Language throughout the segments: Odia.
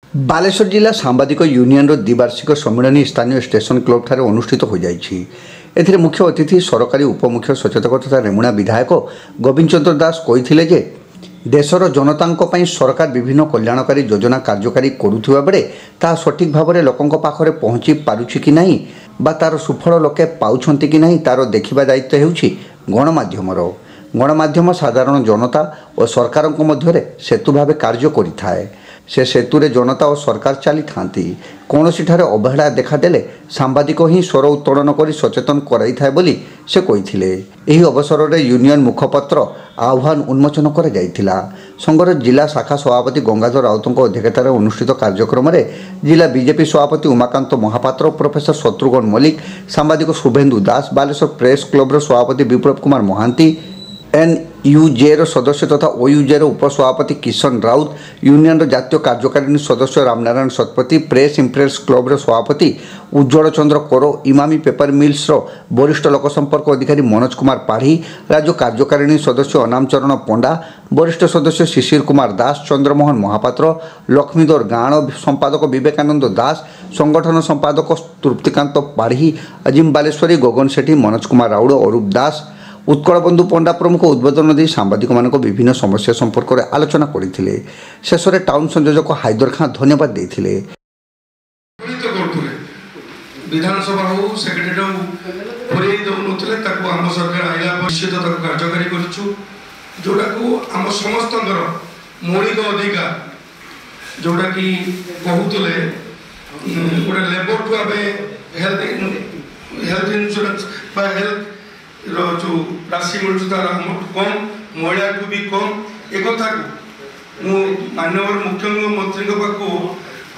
ବାଲେଶ୍ୱର ଜିଲ୍ଲା ସାମ୍ବାଦିକ ୟୁନିୟନର ଦ୍ୱିବାର୍ଷିକ ସମ୍ମିଳନୀ ସ୍ଥାନୀୟ ଷ୍ଟେସନ କ୍ଲବଠାରେ ଅନୁଷ୍ଠିତ ହୋଇଯାଇଛି। ଏଥିରେ ମୁଖ୍ୟ ଅତିଥି ସରକାରୀ ଉପମୁଖ୍ୟ ସଚେତକ ତଥା ରେମୁଣା ବିଧାୟକ ଗୋବିନ୍ଦ ଚନ୍ଦ୍ର ଦାସ କହିଥିଲେ ଯେ ଦେଶର ଜନତାଙ୍କ ପାଇଁ ସରକାର ବିଭିନ୍ନ କଲ୍ୟାଣକାରୀ ଯୋଜନା କାର୍ଯ୍ୟକାରୀ କରୁଥିବା ବେଳେ ତାହା ସଠିକ୍ ଭାବରେ ଲୋକଙ୍କ ପାଖରେ ପହଞ୍ଚି ପାରୁଛି କି ନାହିଁ ବା ତା'ର ସୁଫଳ ଲୋକେ ପାଉଛନ୍ତି କି ନାହିଁ, ତା'ର ଦେଖିବା ଦାୟିତ୍ୱ ହେଉଛି ଗଣମାଧ୍ୟମର। ଗଣମାଧ୍ୟମ ସାଧାରଣ ଜନତା ଓ ସରକାରଙ୍କ ମଧ୍ୟରେ ସେତୁ ଭାବେ କାର୍ଯ୍ୟ କରିଥାଏ। ସେ ସେତୁରେ ଜନତା ଓ ସରକାର ଚାଲିଥାନ୍ତି। କୌଣସିଠାରେ ଅବହେଳା ଦେଖାଦେଲେ ସାମ୍ବାଦିକ ହିଁ ସ୍ୱର ଉତ୍ତୋଳନ କରି ସଚେତନ କରାଇଥାଏ ବୋଲି ସେ କହିଥିଲେ। ଏହି ଅବସରରେ ୟୁନିୟନ ମୁଖପତ୍ର ଆହ୍ୱାନ ଉନ୍ମୋଚନ କରାଯାଇଥିଲା। ସଂଘର ଜିଲ୍ଲା ଶାଖା ସଭାପତି ଗଙ୍ଗାଧର ରାଉତଙ୍କ ଅଧ୍ୟକ୍ଷତାରେ ଅନୁଷ୍ଠିତ କାର୍ଯ୍ୟକ୍ରମରେ ଜିଲ୍ଲା ବିଜେପି ସଭାପତି ଉମାକାନ୍ତ ମହାପାତ୍ର, ପ୍ରଫେସର ଶତ୍ରୁଘ୍ନ ମଲ୍ଲିକ, ସାମ୍ବାଦିକ ଶୁଭେନ୍ଦୁ ଦାସ, ବାଲେଶ୍ୱର ପ୍ରେସ୍ କ୍ଲବର ସଭାପତି ବିପ୍ଳବ କୁମାର ମହାନ୍ତି, ଏନ୍ୟୁଜେର ସଦସ୍ୟ ତଥା ଓୟୁଜେର ଉପସଭାପତି କିଶନ ରାଉତ, ୟୁନିୟନର ଜାତୀୟ କାର୍ଯ୍ୟକାରିଣୀ ସଦସ୍ୟ ରାମନାରାୟଣ ଶତପଥୀ, ପ୍ରେସ୍ ଇମ୍ପ୍ରେସ୍ କ୍ଲବର ସଭାପତି ଉଜ୍ଜଳ ଚନ୍ଦ୍ର କର, ଇମାମି ପେପର ମିଲ୍ସର ବରିଷ୍ଠ ଲୋକସମ୍ପର୍କ ଅଧିକାରୀ ମନୋଜ କୁମାର ପାଢ଼ୀ, ରାଜ୍ୟ କାର୍ଯ୍ୟକାରିଣୀ ସଦସ୍ୟ ଅନାମ ଚରଣ ପଣ୍ଡା, ବରିଷ୍ଠ ସଦସ୍ୟ ଶିଶିର କୁମାର ଦାସ, ଚନ୍ଦ୍ରମୋହନ ମହାପାତ୍ର, ଲକ୍ଷ୍ମୀଧର ଗାଣ, ସମ୍ପାଦକ ବିବେକାନନ୍ଦ ଦାସ, ସଂଗଠନ ସମ୍ପାଦକ ତୃପ୍ତିକାନ୍ତ ପାଢ଼ୀ, ଅଜିମ ବାଲେଶ୍ୱରୀ, ଗଗନ ସେଠୀ, ମନୋଜ କୁମାର ରାଉଳ, ଅରୂପ ଦାସ, ଉତ୍କଳବନ୍ଧୁ ପଣ୍ଡା ପ୍ରମୁଖ ଉଦ୍ବୋଧନ ଦେଇ ସାମ୍ବାଦିକମାନଙ୍କ ବିଭିନ୍ନ ସମସ୍ୟା ସମ୍ପର୍କରେ ଆଲୋଚନା କରିଥିଲେ। ଶେଷରେ ଟାଉନ୍ ସଂଯୋଜକ ହାଇଦର ଖାଁ ଧନ୍ୟବାଦ ଦେଇଥିଲେ। କରୁଥିଲେ ବିଧାନସଭା ହଉ, ସେକ୍ରେଟାରୀ ହଉ, ପୁରେଇ ଦେଉନଥିଲେ। ତାକୁ ଆମ ସରକାର ଆଇଲା ନିଶ୍ଚିତ ତାକୁ କାର୍ଯ୍ୟକାରୀ କରିଛୁ, ଯେଉଁଟାକୁ ଆମ ସମସ୍ତଙ୍କର ମୌଳିକ ଅଧିକାର। ଯେଉଁଟାକି କହୁଥିଲେ ଗୋଟେ ଲେବରଠୁ ଆମେ ହେଲ୍ଥ ଇନ୍ସୁରାନ୍ସ ବା ହେଲ୍ଥ ର ଯେଉଁ ରାଶି ମିଳୁଛି, ତାର ଆମଠୁ କମ୍, ମହିଳାଠୁ ବି କମ୍। ଏକଥାକୁ ମୁଁ ମାନ୍ୟବର ମୁଖ୍ୟମନ୍ତ୍ରୀଙ୍କ ପାଖକୁ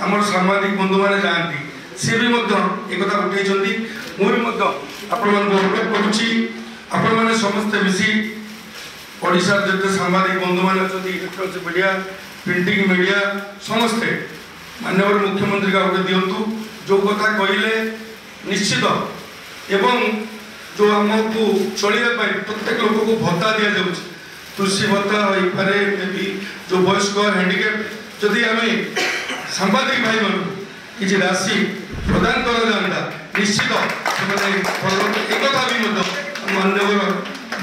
ଆମର ସାମ୍ବାଦିକ ବନ୍ଧୁମାନେ ଯାଆନ୍ତି, ସିଏ ବି ମଧ୍ୟ ଏକଥା ଉଠେଇଛନ୍ତି। ମୁଁ ବି ମଧ୍ୟ ଆପଣମାନଙ୍କୁ ଅନୁରୋଧ କରୁଛି, ଆପଣମାନେ ସମସ୍ତେ ମିଶି ଓଡ଼ିଶାର ଯେତେ ସାମ୍ବାଦିକ ବନ୍ଧୁମାନେ ଅଛନ୍ତି, ଇଲେକ୍ଟ୍ରୋନିକ୍ସ ମିଡ଼ିଆ, ପ୍ରିଣ୍ଟିଂ ମିଡ଼ିଆ, ସମସ୍ତେ ମାନ୍ୟବର ମୁଖ୍ୟମନ୍ତ୍ରୀଙ୍କୁ ଆଉ ଗୋଟେ ଦିଅନ୍ତୁ ଯେଉଁ କଥା କହିଲେ ନିଶ୍ଚିତ। ଏବଂ ଯେଉଁ ଆମକୁ ଚଳିବା ପାଇଁ ପ୍ରତ୍ୟେକ ଲୋକକୁ ଭତ୍ତା ଦିଆଯାଉଛି, କୃଷି ଭତ୍ତା ହୋଇପାରେ ବି, ଯେଉଁ ବୟସ୍କ, ହ୍ୟାଣ୍ଡିକ୍ୟାପ୍, ଯଦି ଆମେ ସାମ୍ବାଦିକ ଭାଇମାନଙ୍କୁ କିଛି ରାଶି ପ୍ରଦାନ କରାଯାଆନ୍ତା, ନିଶ୍ଚିତ ସେମାନେ। ଏକଥା ବି ମଧ୍ୟ ମାନ୍ୟବର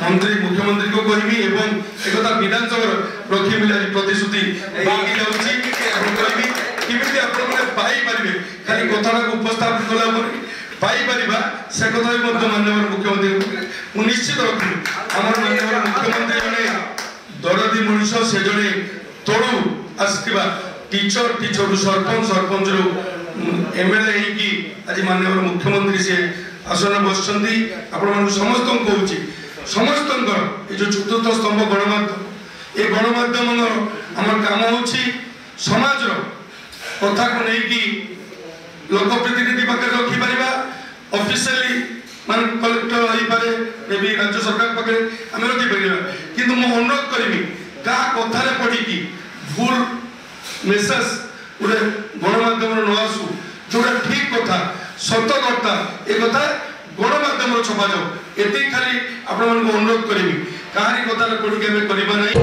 ମନ୍ତ୍ରୀ ମୁଖ୍ୟମନ୍ତ୍ରୀଙ୍କୁ କହିବି ଏବଂ ଏକଥା ବିଧାନସଭାର ରଖିବି ବୋଲି ଆଜି ପ୍ରତିଶ୍ରୁତି ଦେଇକି ଯାଉଛି। ଏବଂ କହିବି କେମିତି ଆପଣମାନେ ପାଇପାରିବେ, ଖାଲି କଥାଟାକୁ ଉପସ୍ଥାପନ କଲା ପରେ ପାଇପାରିବା, ସେ କଥା ବି ମଧ୍ୟ ମାନ୍ୟବର ମୁଖ୍ୟମନ୍ତ୍ରୀ ମୁଁ ନିଶ୍ଚିତ ରଖିବି। ଆମର ମାନ୍ୟବର ମୁଖ୍ୟମନ୍ତ୍ରୀ ଜଣେ ଦରଦୀ ମଣିଷ। ସେ ଜଣେ ତଳୁ ଆସିଥିବା ଟିଚର, ଟିଚରରୁ ସରପଞ୍ଚ, ସରପଞ୍ଚରୁ ଏମଏଲଏ ହେଇକି ଆଜି ମାନ୍ୟବର ମୁଖ୍ୟମନ୍ତ୍ରୀ ସେ ଆସନ ବସିଛନ୍ତି। ଆପଣମାନଙ୍କୁ ସମସ୍ତଙ୍କୁ କହୁଛି, ସମସ୍ତଙ୍କର ଏ ଯେଉଁ ଚତୁର୍ଥ ସ୍ତମ୍ଭ ଗଣମାଧ୍ୟମ, ଏ ଗଣମାଧ୍ୟମର ଆମର କାମ ହେଉଛି ସମାଜର କଥାକୁ ନେଇକି ଲୋକପ୍ରତିନିଧି ପାଖରେ ରଖିପାରିବା। ଅଫିସିଆଲି ମାନେ କଲେକ୍ଟର ହେଇପାରେ, ମେବି ରାଜ୍ୟ ସରକାର ପାଖରେ ଆମେ ରଖିପାରିବା। କିନ୍ତୁ ମୁଁ ଅନୁରୋଧ କରିବି, କାହା କଥାରେ ପଡ଼ିକି ଭୁଲ ମେସେଜ ଗୋଟେ ଗଣମାଧ୍ୟମରେ ନ ଆସୁ। ଯୋଉଟା ଠିକ କଥା, ସତ କଥା, ଏ କଥା ଗଣମାଧ୍ୟମରେ ଛପାଯାଉ। ଏତିକି ଖାଲି ଆପଣମାନଙ୍କୁ ଅନୁରୋଧ କରିବି, କାହାରି କଥାରେ ପଡ଼ିକି ଆମେ କରିବା ନାହିଁ।